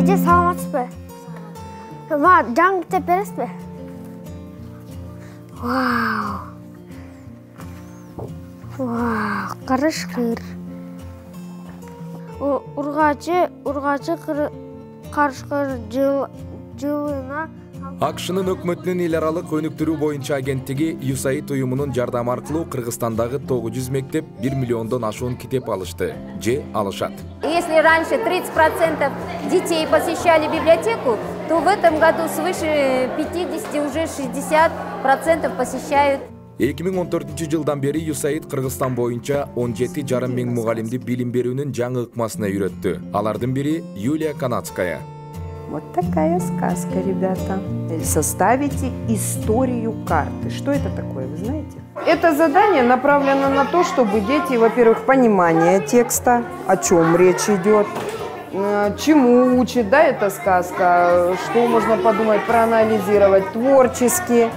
Эже саламатсызбы? Мага жаңы китеп бересизби? Вау. Вау, карышкыр. Ургачы карышкыр жылына АКШнын өкмөтүнүн эл аралык өнүктүрүү боюнча агенттиги USAID уюмунун жардамы аркылуу Кыргызстандагы 900 мектеп 1 миллиондон ашуун китеп алышты же алышат. Если раньше 30% детей посещали библиотеку, то в этом году свыше 50, уже 60% посещают. 2014 жылдан бери USAID Кыргызстан боюнча 17,5 миң мугалимди билим берүүнүн жаңы ыкмасына үйрөттү. Алардын бири Юлия Канадская. Вот такая сказка, ребята. Составите историю карты. Что это такое, вы знаете? Это задание направлено на то, чтобы дети, во-первых, понимание текста, о чем речь идет, чему учит, да, эта сказка, что можно подумать, проанализировать творчески.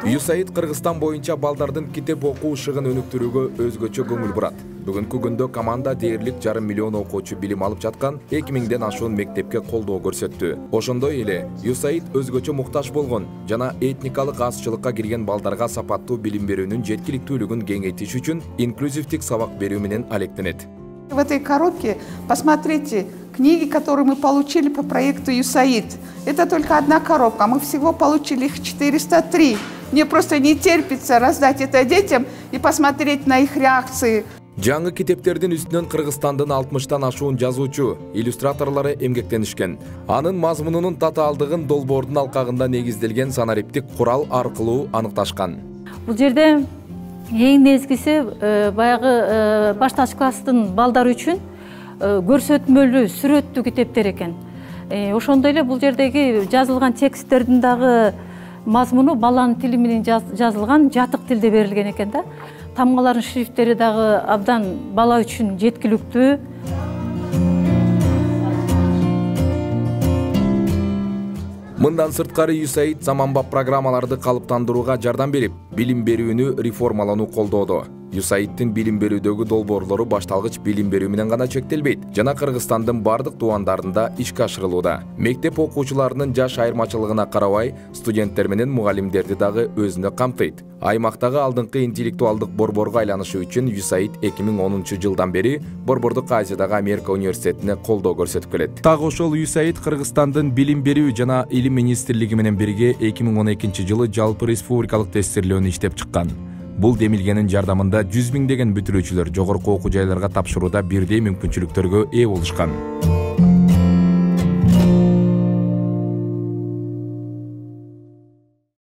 USAID Кыргызстан боюнча балдардын китеп окуу ышыгын өнүктүрүүгө өзгөчө көңүл бурат. Бүгүнкү күндө команда дээрлик 1,5 миллион окуучу билим алып жаткан 2000ден ашуун мектепке колдоо көрсөттү. Ошондой эле USAID өзгөчө муктаж болгон жана этникалык азчылыкка кирген балдарга сапаттуу билим берүүнүн жеткиликтүүлүгүн кеңейтиш үчүн инклюзивдик сабак берүү менен алектенет. В этой коробке посмотрите книги, которые мы получили по проекту USAID. Это только одна коробка, мы всего получили их 403. Мне просто не терпится раздать это детям и посмотреть на их реакции. Жаңы китептердин үстүнөн Кыргызстандын 60тан ашуун жазуучу, иллюстраторлору эмгектенишкен. Анын мазмунунун татаалдыгын долбоордун алкагында негизделген санариптик курал аркылуу аныкташкан. Бул жерде эң негизгиси баягы башташ класстын балдары үчүн көрсөтмөлүү, сүрөттүү китептер экен. Ошондой эле бул жердеги жазылган тексттердин дагы мазмуну баланын тили менен жазылган, жатык тилде берилген экен да. Тамгалардын шрифттери дагы абдан бала үчүн жеткиликтүү. Мындан сырткары USAID заманбап программаларды калыптандырууга жардам берип, билим берүүнү реформалануу колдоодо. USAID'тин билим берүүдөгү долбоорлору башталгыч билим берүү менен гана чектелбейт, жана Кыргызстандын бардык тубандарында ишке ашырылууда. Мектеп окуучуларынын жаш айырмачылыгына карабай, студенттер менен мугалимдерди дагы өзүнө камтыйт. Аймактагы алдыңкы интеллектуалдык борборго айланышы үчүн USAID 2010 жылдан бери Борбордук Азиядагы Америка университетине колдоо көрсөтүп келет. Так ошол USAID Кыргызстандын билим берүү жана илим министрлиги менен бирге 2012 жылы жалпы республикалык тестирлөөнү иштеп чыккан. Бул демилгенин жардамында 100 миңдеген бүтүрүүчүлөр жогорку окуу жайларга тапшырууда бирдей мүмкүнчүлүктөргө ээ болушкан.